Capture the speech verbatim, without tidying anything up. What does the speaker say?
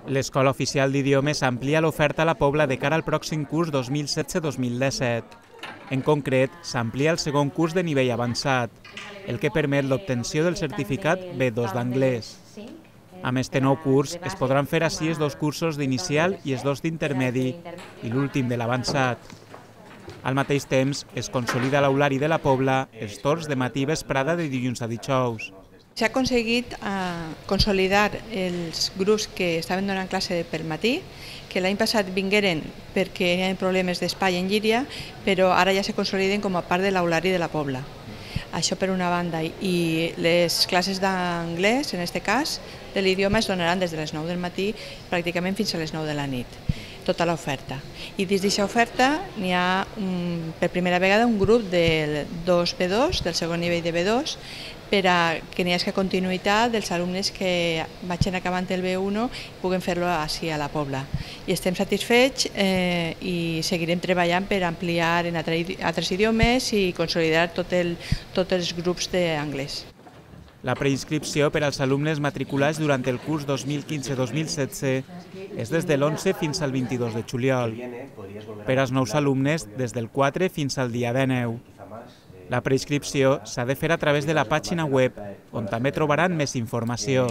L'Escola Oficial d'Idiomes amplia l'oferta a la Pobla de cara al pròxim curs dos mil setze dos mil disset. En concret, s'amplia el segon curs de nivell avançat, el que permet l'obtenció del certificat B dos d'anglès. Amb este nou curs es podran fer així els dos cursos d'inicial i els dos d'intermedi i l'últim de l'avançat. Al mateix temps, es consolida l'aulari de la Pobla els torns de matí i vesprada de dilluns a dijous. S'ha aconseguit eh, consolidar els grups que estaven donant classe pel matí, que l'any passat vingueren perquè hi havia problemes d'espai en Llíria, però ara ja se consoliden com a part de l'aulari de la Pobla. Això per una banda, i les classes d'anglès, en aquest cas, de l'idioma es donaran des de les nou del matí pràcticament fins a les nou de la nit, tota l'oferta. I dins d'aquesta oferta n'hi ha un, per primera vegada un grup del dos B dos, del segon nivell de B dos, per a que n'hi hagi continuïtat dels alumnes que vagin acabant el B un i puguen fer-lo així a la Pobla. I estem satisfets eh, i seguirem treballant per ampliar en altres idiomes i consolidar tot el, tots els grups d'anglès. La preinscripció per als alumnes matriculats durant el curs dos mil quinze dos mil setze és des de l'onze fins al vint-i-dos de juliol. Per als nous alumnes, des del quatre fins al dia dinou. La preinscripció s'ha de fer a través de la pàgina web, on també trobaran més informació.